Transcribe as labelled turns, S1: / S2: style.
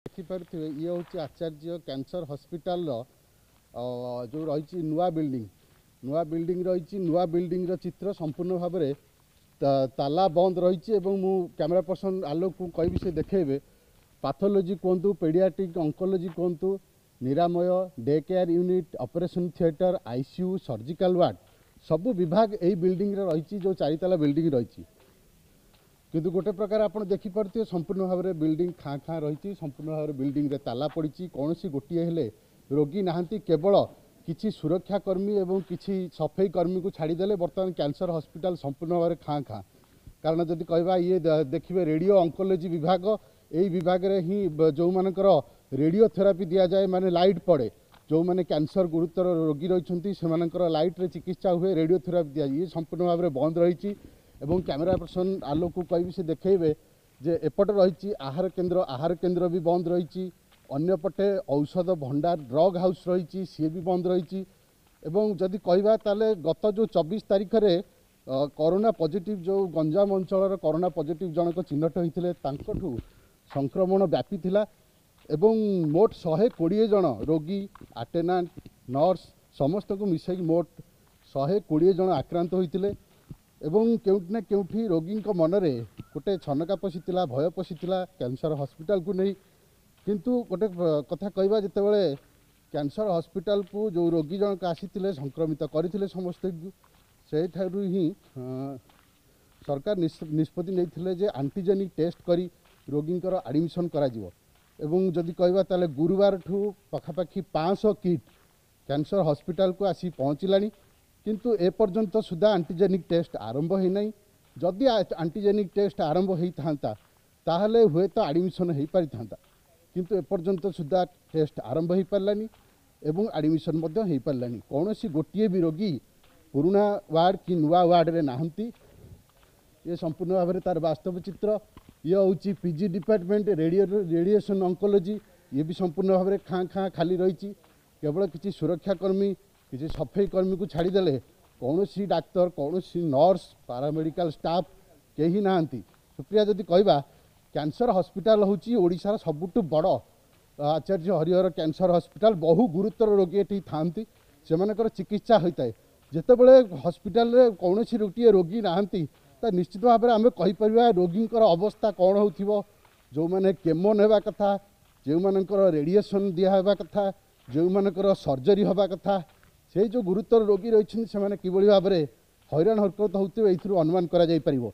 S1: ଦେଖିପାରୁଥିବେ, ଇଏ ହେଉଛି ଆଚାର୍ଯ୍ୟ କ୍ୟାନ୍ସର ହସ୍ପିଟାଲର ଯେଉଁ ରହିଛି ନୂଆ ବିଲ୍ଡିଂ, ନୂଆ ବିଲ୍ଡିଂ ରହିଛି। ନୂଆ ବିଲ୍ଡିଂର ଚିତ୍ର ସମ୍ପୂର୍ଣ୍ଣ ଭାବରେ ତାଲା ବନ୍ଦ ରହିଛି ଏବଂ ମୁଁ କ୍ୟାମେରା ପର୍ସନ୍ ଆଲୋକକୁ କହିବି, ସେ ଦେଖେଇବେ। ପାଥୋଲୋଜି କୁହନ୍ତୁ, ପେଡ଼ିଆଟ୍ରିକ୍ ଅଙ୍କୋଲୋଜି କୁହନ୍ତୁ, ନିରାମୟ, day care unit, operation theatre, ICU, surgical ward, ସବୁ ବିଭାଗ ଏଇ ବିଲ୍ଡିଂରେ ରହିଛି, ଯେଉଁ ଚାରିତାଲା ବିଲ୍ଡିଂ ରହିଛି। କିନ୍ତୁ ଗୋଟେ ପ୍ରକାର ଆପଣ ଦେଖିପାରୁଥିବେ, ସମ୍ପୂର୍ଣ୍ଣ ଭାବରେ ବିଲ୍ଡିଂ ଖାଁ ଖାଁ ରହିଛି। ସମ୍ପୂର୍ଣ୍ଣ ଭାବରେ ବିଲ୍ଡିଂରେ ତାଲା ପଡ଼ିଛି। କୌଣସି ଗୋଟିଏ ହେଲେ ରୋଗୀ ନାହାନ୍ତି। କେବଳ କିଛି ସୁରକ୍ଷାକର୍ମୀ ଏବଂ କିଛି ସଫେଇ କର୍ମୀଙ୍କୁ ଛାଡ଼ିଦେଲେ ବର୍ତ୍ତମାନ କ୍ୟାନ୍ସର ହସ୍ପିଟାଲ ସମ୍ପୂର୍ଣ୍ଣ ଭାବରେ ଖାଁ ଖାଁ। କାରଣ ଯଦି କହିବା, ଇଏ ଦେଖିବେ ରେଡ଼ିଓ ଅଙ୍କୋଲୋଜି ବିଭାଗ। ଏଇ ବିଭାଗରେ ହିଁ ଯେଉଁମାନଙ୍କର ରେଡ଼ିଓଥେରାପି ଦିଆଯାଏ, ମାନେ ଲାଇଟ୍ ପଡ଼େ, ଯେଉଁମାନେ କ୍ୟାନ୍ସର ଗୁରୁତର ରୋଗୀ ରହିଛନ୍ତି ସେମାନଙ୍କର ଲାଇଟ୍ରେ ଚିକିତ୍ସା ହୁଏ, ରେଡ଼ିଓଥେରାପି ଦିଆଯାଏ। ଇଏ ସମ୍ପୂର୍ଣ୍ଣ ଭାବରେ ବନ୍ଦ ରହିଛି ଏବଂ କ୍ୟାମେରା ପର୍ସନ୍ ଆଲୋକକୁ କହିବି, ସେ ଦେଖେଇବେ ଯେ ଏପଟେ ରହିଛି ଆହାର କେନ୍ଦ୍ର, ଆହାର କେନ୍ଦ୍ର ବି ବନ୍ଦ ରହିଛି। ଅନ୍ୟପଟେ ଔଷଧ ଭଣ୍ଡାର, ଡ୍ରଗ୍ ହାଉସ୍ ରହିଛି, ସିଏ ବି ବନ୍ଦ ରହିଛି। ଏବଂ ଯଦି କହିବା ତାହେଲେ ଗତ ଯେଉଁ 24 ତାରିଖରେ କରୋନା ପଜିଟିଭ୍, ଯେଉଁ ଗଞ୍ଜାମ ଅଞ୍ଚଳର କରୋନା ପଜିଟିଭ୍ ଜଣକ ଚିହ୍ନଟ ହୋଇଥିଲେ, ତାଙ୍କଠୁ ସଂକ୍ରମଣ ବ୍ୟାପିଥିଲା ଏବଂ ମୋଟ 120 ଜଣ ରୋଗୀ, ଆଟେଣ୍ଡାଣ୍ଟ, ନର୍ସ ସମସ୍ତଙ୍କୁ ମିଶାଇକି ମୋଟ 120 ଜଣ ଆକ୍ରାନ୍ତ ହୋଇଥିଲେ। ଏବଂ କେଉଁଠି ନା କେଉଁଠି ରୋଗୀଙ୍କ ମନରେ ଗୋଟେ ଛନକା ପଶିଥିଲା, ଭୟ ପଶିଥିଲା କ୍ୟାନ୍ସର ହସ୍ପିଟାଲକୁ ନେଇ। କିନ୍ତୁ ଗୋଟେ କଥା କହିବା, ଯେତେବେଳେ କ୍ୟାନ୍ସର ହସ୍ପିଟାଲକୁ ଯେଉଁ ରୋଗୀ ଜଣକ ଆସିଥିଲେ, ସଂକ୍ରମିତ କରିଥିଲେ ସମସ୍ତଙ୍କୁ, ସେଇଠାରୁ ହିଁ ସରକାର ନିଷ୍ପତ୍ତି ନେଇଥିଲେ ଯେ ଆଣ୍ଟିଜେନିକ୍ ଟେଷ୍ଟ କରି ରୋଗୀଙ୍କର ଆଡ଼ମିସନ୍ କରାଯିବ। ଏବଂ ଯଦି କହିବା ତାହେଲେ ଗୁରୁବାରଠୁ ପାଖାପାଖି 500 କିଟ୍ କ୍ୟାନ୍ସର ହସ୍ପିଟାଲକୁ ଆସି ପହଞ୍ଚିଲାଣି, କିନ୍ତୁ ଏପର୍ଯ୍ୟନ୍ତ ସୁଦ୍ଧା ଆଣ୍ଟିଜେନିକ୍ ଟେଷ୍ଟ ଆରମ୍ଭ ହୋଇନାହିଁ। ଯଦି ଆଣ୍ଟିଜେନିକ୍ ଟେଷ୍ଟ ଆରମ୍ଭ ହୋଇଥାନ୍ତା ତାହେଲେ ହୁଏତ ଆଡ଼ମିସନ୍ ହୋଇପାରିଥାନ୍ତା, କିନ୍ତୁ ଏପର୍ଯ୍ୟନ୍ତ ସୁଦ୍ଧା ଟେଷ୍ଟ ଆରମ୍ଭ ହୋଇପାରିଲାନି ଏବଂ ଆଡ଼ମିସନ୍ ମଧ୍ୟ ହୋଇପାରିଲାନି। କୌଣସି ଗୋଟିଏ ବି ରୋଗୀ ପୁରୁଣା ୱାର୍ଡ଼ କି ନୂଆ ୱାର୍ଡ଼ରେ ନାହାନ୍ତି। ଇଏ ସମ୍ପୂର୍ଣ୍ଣ ଭାବରେ ତା'ର ବାସ୍ତବ ଚିତ୍ର। ଇଏ ହେଉଛି ପିଜି ଡିପାର୍ଟମେଣ୍ଟ, ରେଡ଼ିଏସନ୍ ଅଙ୍କୋଲୋଜି, ଇଏ ବି ସମ୍ପୂର୍ଣ୍ଣ ଭାବରେ ଖାଁ ଖାଁ ଖାଲି ରହିଛି। କେବଳ କିଛି ସୁରକ୍ଷାକର୍ମୀ, କିଛି ସଫେଇ କର୍ମୀକୁ ଛାଡ଼ିଦେଲେ କୌଣସି ଡାକ୍ତର, କୌଣସି ନର୍ସ, ପାରାମେଡ଼ିକାଲ ଷ୍ଟାଫ୍ କେହି ନାହାନ୍ତି। ସୁପ୍ରିୟା, ଯଦି କହିବା, କ୍ୟାନ୍ସର ହସ୍ପିଟାଲ ହେଉଛି ଓଡ଼ିଶାର ସବୁଠୁ ବଡ଼ ଆଚାର୍ଯ୍ୟ ହରିହର କ୍ୟାନ୍ସର ହସ୍ପିଟାଲ। ବହୁ ଗୁରୁତର ରୋଗୀ ଏଠି ଥାଆନ୍ତି, ସେମାନଙ୍କର ଚିକିତ୍ସା ହୋଇଥାଏ। ଯେତେବେଳେ ହସ୍ପିଟାଲରେ କୌଣସି ଗୋଟିଏ ରୋଗୀ ନାହାନ୍ତି, ତା ନିଶ୍ଚିତ ଭାବରେ ଆମେ କହିପାରିବା ରୋଗୀଙ୍କର ଅବସ୍ଥା କ'ଣ ହେଉଥିବ। ଯେଉଁମାନେ କେମୋ ନେବା କଥା, ଯେଉଁମାନଙ୍କର ରେଡ଼ିଏସନ୍ ଦିଆହେବା କଥା, ଯେଉଁମାନଙ୍କର ସର୍ଜରୀ ହେବା କଥା, ସେଇ ଯେଉଁ ଗୁରୁତର ରୋଗୀ ରହିଛନ୍ତି ସେମାନେ କିଭଳି ଭାବରେ ହଇରାଣ ହରକତ ହେଉଥିବେ, ଏଇଥିରୁ ଅନୁମାନ କରାଯାଇପାରିବ।